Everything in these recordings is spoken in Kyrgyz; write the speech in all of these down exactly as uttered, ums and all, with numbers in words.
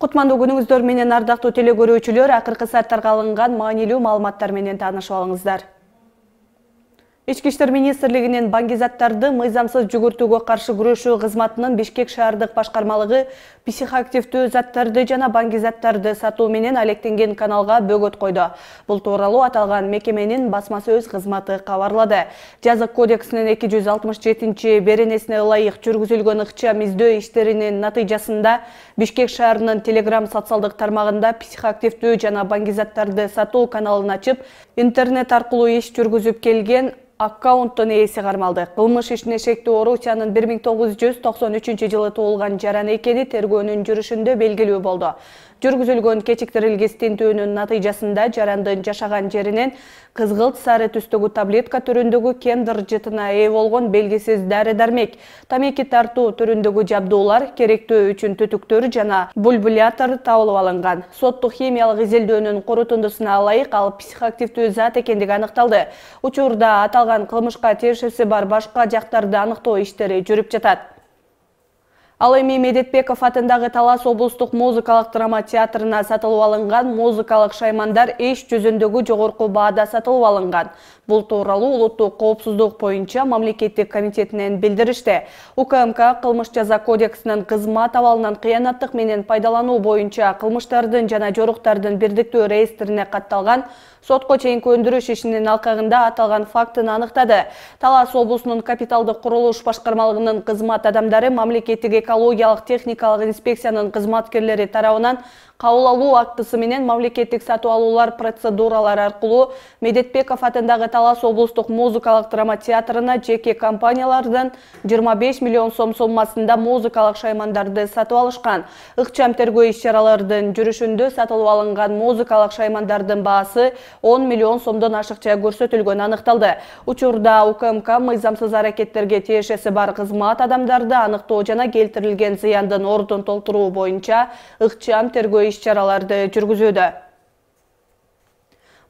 Кутмандуу күнүңүздөр менен ардактуу теле көрүүчүлөр, акыркы сааттарга алынган маанилүү маалыматтар менен таанышып алыңыздар. Ички иштер министрлигинин баңгизаттарды мыйзамсыз жүгүртүүгө каршы күрөшүү кызматынын Бишкек шаардык башкармалыгы психоактивдүү заттарды жана баңгизаттарды сатуу менен алектенген каналга бөгөт койду. Бул тууралуу аталган мекеменин басма сөз кызматы кабарлады. Жазык кодексинин эки жүз алтымыш жетинчи беренесине ылайык жүргүзүлгөн ыкчам издөө иштеринин натыйжасында Бишкек шаарынын Telegram социалдык тармагында психоактивдүү жана баңгизаттарды сатуу каналын ачып, интернет аркылуу иш жүргүзүп келген аккаунттун ээси кармалды. Кылмыш ишине шектүү Орусиянын бир миң тогуз жүз токсон үчүнчү жылы туулган жаран экени тергөөнүн жүрүшүндө белгилүү болду. Жүргүзүлгөн кечиктирилгис тинтөөнүн натыйжасында жарандын жашаган жеринен кызгылт сары түстөгү таблетка түрүндөгү кендер жытына ээ болгон белгисиз дары-дармек, тамеки тартуу түрүндөгү жабдуулар, керектөө үчүн түтүктөр жана бульбулятор табылып алынган. Соттук химиялык изилдөөнүн корутундусуна ылайык ал психоактивдүү зат экендиги аныкталды. Учурда аталган кылмышка тиешеси бар башка жактарды аныктоо иштери жүрүп жатат. Ал эми Медетбеков атындагы Талас облустук музыкалык драма театрына сатылып алынган музыкалык шаймандар иш жүзүндөгү жогорку баада сатылып алынган. Бул тууралуу улуттук коопсуздук боюнча мамлекеттик комитетинен билдиришти. У К М К кылмыш жаза кодексинин кызмат абалынан кыянаттык менен пайдалануу боюнча кылмыштардын жана жоруктардын бирдиктүү реестрине катталган сотко чейинки өндүрүш ишинин алкагында аталган фактыны аныктады. Талас облусунун капиталдык курулуш башкармалыгынын кызмат адамдары мамлекеттик экологиялык техникалык инспекциянын кызматкерлери тарабынан кабыл алуу актысы менен мамлекеттик сатып алуулар процедуралары аркылуу Медетбеков атындагы Талас облустук музыкалык драма театрына жеке компаниялардан жыйырма беш миллион сом соммасында музыкалык шаймандарды сатып алышкан. Ыкчам тергөө иш-чаралардын жүрүшүндө сатылып алынган музыкалык шаймандардын баасы он миллион сомдон ашыкча көрсөтүлгөнү аныкталды. Учурда У К М К мыйзамсыз аракеттерге тиешеси бар кызмат адамдарды аныктоо жана келтирилген зыяндын ордун толтуруу боюнча ыкчам тергөө иш-чараларды жүргүзүүдө.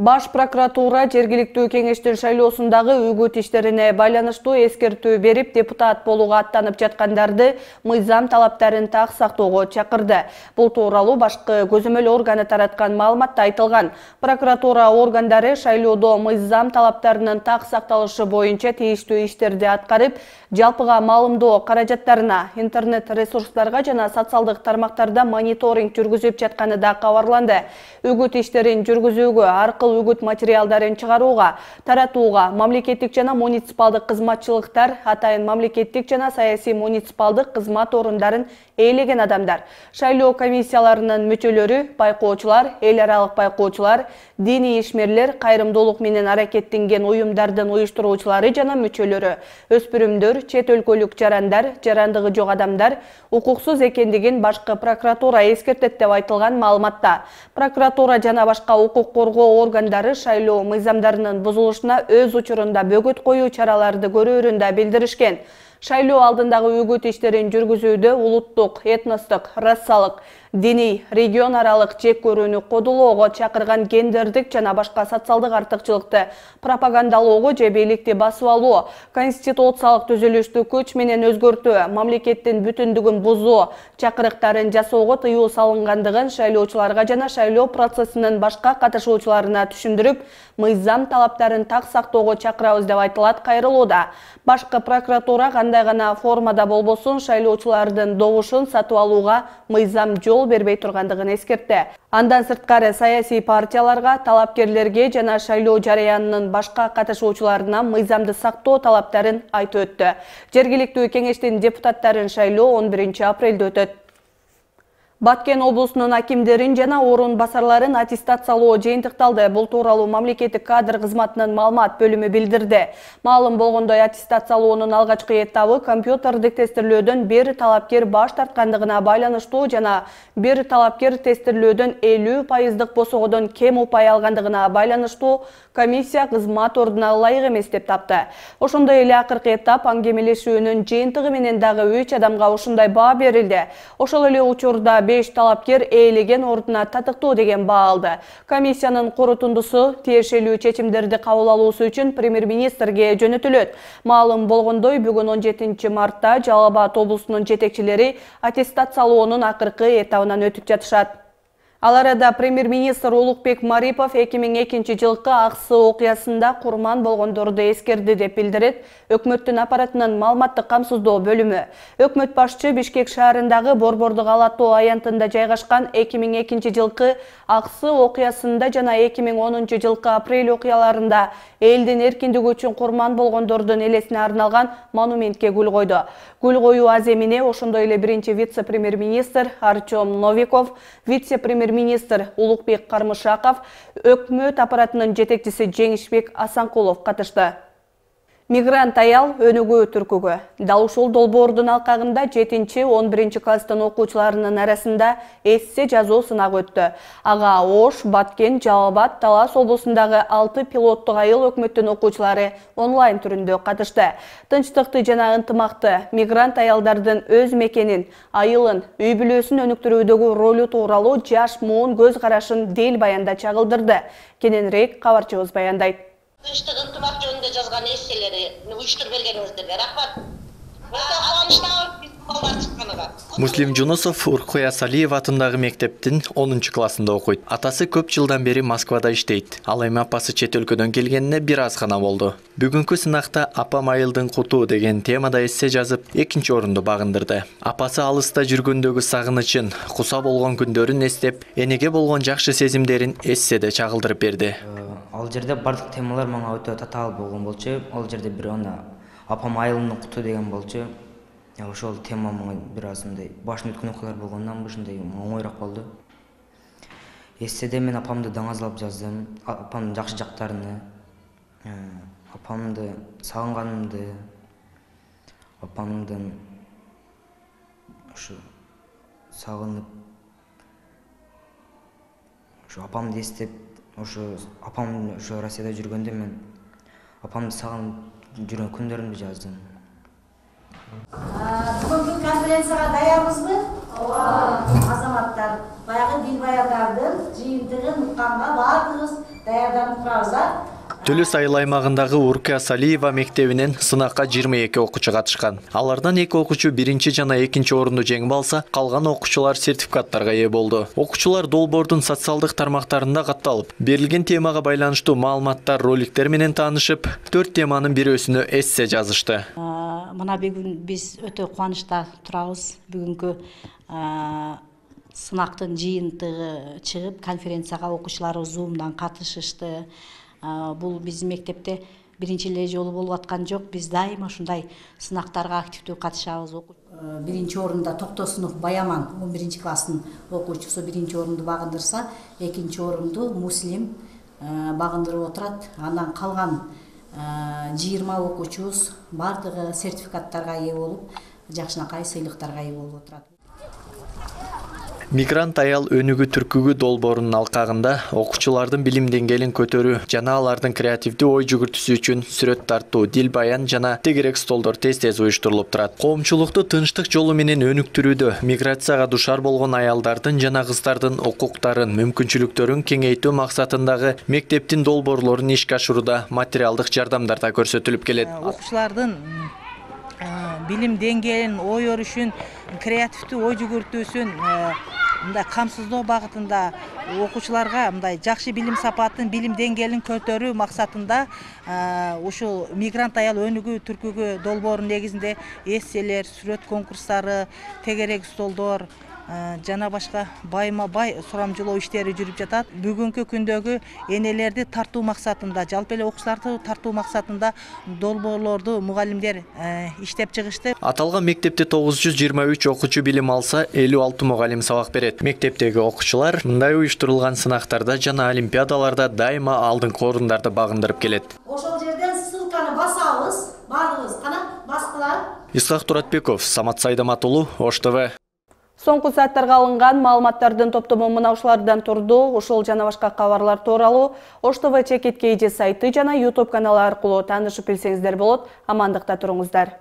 Баш прокуратура жергиликтүү кеңештин шайлоосундагы үгүт иштерине байланыштуу эскертүү берип, депутат болууга аттанып жаткандарды мыйзам талаптарын так сактоого чакырды. Бул тууралуу башкы көзөмөл органы тараткан маалыматта айтылган. Прокуратура органдары шайлоодо мыйзам талаптарынын так сакталышы боюнча тийиштүү иштерди аткарып, жалпыга маалымдоо каражаттарына, интернет ресурстарга жана социалдык тармактарда мониторинг жүргүзүп жатканы да кабарланды. Үгүт иштерин жүргүзүүгө, аркылуу үгүт материалдарын чыгарууга, таратууга мамлекеттик жана муниципалдык кызматчылыктар, атайын мамлекеттик жана саясий муниципалдык кызмат орундарын ээлеген адамдар, шайлоо комиссияларынын мүчөлөрү, байкоочулар, эл аралык байкоочулар, диний ишмерлер, кайрымдуулук менен аракеттенген уюмдардын уюштуруучулары жана мүчөлөрү, өспүрүмдөр, чет өлкөлүк жарандар, жарандыгы жок адамдар укуксуз экендигин башкы прокуратура эскертет деп айтылган маалыматта. Прокуратура жана башка укук коргоо органдары шайлоо мыйзамдарынын бузулушуна өз учурунда бөгөт коюу чараларды көрөөрүн да билдиришкен. Шайлоо алдындагы үгүт иштерин жүргүзүүдө улуттук, этностук, расалык, диний, регион аралык жек көрүүнү кодулоого чакырган гендердик жана башка социалдык артыкчылыкты пропагандалоого же бийликти басып алуу, конституциялык түзүлүштү күч менен өзгөртүү, мамлекеттин бүтүндүгүн бузуу чакырыктарын жасоого тыюу салынгандыгын шайлоочуларга жана шайлоо процессинин башка катышуучуларына түшүндүрүп, мыйзам талаптарын так сактоого чакырабыз деп айтылат кайрылууда. Башкы прокуратура кандай гана формада болбосун шайлоочулардын добушун сатып алууга мыйзам жол бербей тургандыгын эскертти. Андан сырткары саясий партияларга, талапкерлерге жана шайлоо жараянынын башка катышуучуларына мыйзамды сактоо талаптарын айтып өттү. Жергиликтүү кеңештин депутаттарын шайлоо он биринчи апрелде өтөт. Баткен облусунун акимдерин жана орун басарларын аттестациялоо жыйынтыкталды. Бул тууралуу мамлекеттик кадр кызматынын маалымат бөлүмү билдирди. Маалым болгондой, аттестациялоонун алгачкы этабы компьютердик тестирлөөдөн бир талапкер баш тарткандыгына байланыштуу жана бир талапкер тестирлөөдөн элүү пайыздык босогодон кем упай алгандыгына байланыштуу комиссия кызмат ордуна ылайык эмес деп тапты. Ошондой эле акыркы этап аңгемелешүүнүн жыйынтыгы менен дагы үч адамга ушундай баа берилди. Ошол эле учурда беш талапкер ээлеген ордуна татыктуу деген баа алды. Комиссиянын корутундусу тиешелүү чечимдерди кабыл алуусу үчүн премьер-министрге жөнөтүлөт. Маалым болгондой, бүгүн он жетинчи мартта Жалал Абад облусунун жетекчилери аттестациялоонун акыркы этабынан өтүп жатышат. Ал арада премьер-министр Улукбек Марипов эки миң экинчи жылкы Аксы окуясында курман болгондорду эскерди деп билдирет өкмөттүн аппаратынын маалыматтык камсыздоо бөлүмү. Өкмөт башчы Бишкек шаарындагы Борбордук Алатоо аянтында жайгашкан эки миң экинчи жылкы Аксы окуясында жана эки миң онунчу жылкы апрель окуяларында элдин эркиндиги үчүн курман болгондордун элесине арналган монументке гүл койду. Гүл коюу аземине ошондой эле биринчи вице-премьер-министр Артем Новиков, вице-премьер-министр Улукбек Кармышаков, өкмөт аппаратынын жетекчиси Жеңишбек Асанкулов катышты. Мигрант аял өнүгүү түркүгү. Дал ушул долбоордун алкагында жетинчи он биринчи класстын окуучуларынын арасында эссе жазуу сынагы өттү. Ага Ош, Баткен, Жалал Абад, Талас облусундагы алты пилоттук айыл өкмөттүн окуучулары онлайн түрүндө катышты. Тынчтыкты жана ынтымакты мигрант аялдардын өз мекенин, айылын, үй бүлөсүн өнүктүрүүдөгү ролу тууралуу жаш муун көз карашын дел баянда чагылдырды. Кененирээк кабарчыбыз баяндайт. Тынчтык ынтымак жөнүндө жазган эсселери уюштуруп бергениңиздерге рахмат. Өтө кубанычтамын биз балдар чыкканга. Муслим Жунусов Уркуя Салиев атындагы мектептин онунчу классында окуйт. Атасы көп жылдан бери Москвада иштейт. Ал эми апасы чет өлкөдөн келгенине бир аз гана болду. Бүгүнкү сынакта апам айылдын куту деген темада эссе жазып, экинчи орунду багындырды. Апасы алыста жүргөндөгү сагынычын, куса болгон күндөрүн эстеп, энеге болгон жакшы сезимдерин эсседе чагылдырып берди. Ал жерде бардык темалар мага өтө татаал болгон болчу. Ал жерде бир ана апам айылдын куту деген болчу. Ошол тема мага бир аз мындай башын өткөн окуялар болгондон ушундай оңоюраак болду. Эсседе мен апамды даңазалап жаздым. Апамдын жакшы жактарыны, апамды сагынганымды, апамдын ушу сагынып, ушу апамды эстеп, ошо апам ошо Россияда жүргөндө мен апамды сагынып жүргөн күндөрүмдү жаздым. Бүгүнкү конференцияга даярбызбы? Ооба. Азаматтар, баягы дилбаярдардын жыйынтыгын укканга баардыгыбыз даярданып турабыз, а? Төлөс айыл аймагындагы Уркуя Салиева мектебинен сынакка жыйырма эки окуучу катышкан. Алардан эки окуучу биринчи жана экинчи орунду жеңип алса, калган окуучулар сертификаттарга ээ болду. Окуучулар долбоордун социалдык тармактарында катталып, берилген темага байланыштуу маалыматтар, роликтер менен таанышып, төрт теманын бирөөсүнө эссе жазышты. Мына бүгүн биз өтө кубанычта турабыз. Бүгүнкү сынактын жыйынтыгы чыгып, конференцияга окуучуларыбыз Zoom'дан катышышты. Бул биздин мектепте биринчи эле жолу болуп аткан жок. Биз дайыма ушундай сынактарга активдүү катышабыз. Биринчи орунда Токтосунов Баяман он биринчи класстын окуучусу биринчи орунду багындырса, экинчи орунду Муслим багындырып отурат. Андан калган жыйырма окуучубуз бардыгы сертификаттарга ээ болуп, жакшынакай сыйлыктарга ээ болуп отурат. Мигрант аял өнүгүү түркүгү долбоорунун алкагында окуучулардын билим деңгээлин көтөрүү жана алардын креативдүү ой жүгүртүүсү үчүн сүрөт тартуу, дил баян жана тегерек столдор тез-тез уюштурулуп турат. Коомчулукту тынчтык жолу менен өнүктүрүүдө миграцияга душар болгон аялдардын жана кыздардын укуктарын, мүмкүнчүлүктөрүн кеңейтүү максатындагы мектептин долбоорлорун ишке ашырууда материалдык жардамдар да көрсөтүлүп келет. Окуучулардын билим деңгээлин, ой өрүшүн, креативдүү ой жүгүртүүсүн мындай камсыздоо багытында окуучуларга мындай жакшы билим сапатын, билим деңгээлин көтөрүү максатында ушул мигрант аял өнүгүү түркүгү долбоорунун негизинде эсселер, сүрөт конкурстары, тегерек столдор жана башка байма бай сурамжылоо иштери жүрүп жатат. Бүгүнкү күндөгү энелерди тартуу максатында, жалпы эле окуучуларды тартуу максатында долбоорлорду мугалимдер иштеп чыгышты. Аталган мектепте тогуз жүз жыйырма үч окуучу билим алса, элүү алты мугалим сабак берет. Мектептеги окуучулар мындай уюштурулган сынактарда жана олимпиадаларда дайыма алдыңкы орундарды багындырып келет. Ошол жерден ссылканы басабыз, баардыгыбыз кана баскыла. Исхак Туратбеков, Самат Сайдамат уулу, Ош ТВ. Соңку сааттарга алынган маалыматтардын топтому мына ушулардан турду. Ушул жана башка кабарлар тууралуу Ош ТВ чекит кейжи сайты жана YouTube каналы аркылуу таанышып билсеңиздер болот. Амандыкта туруңуздар.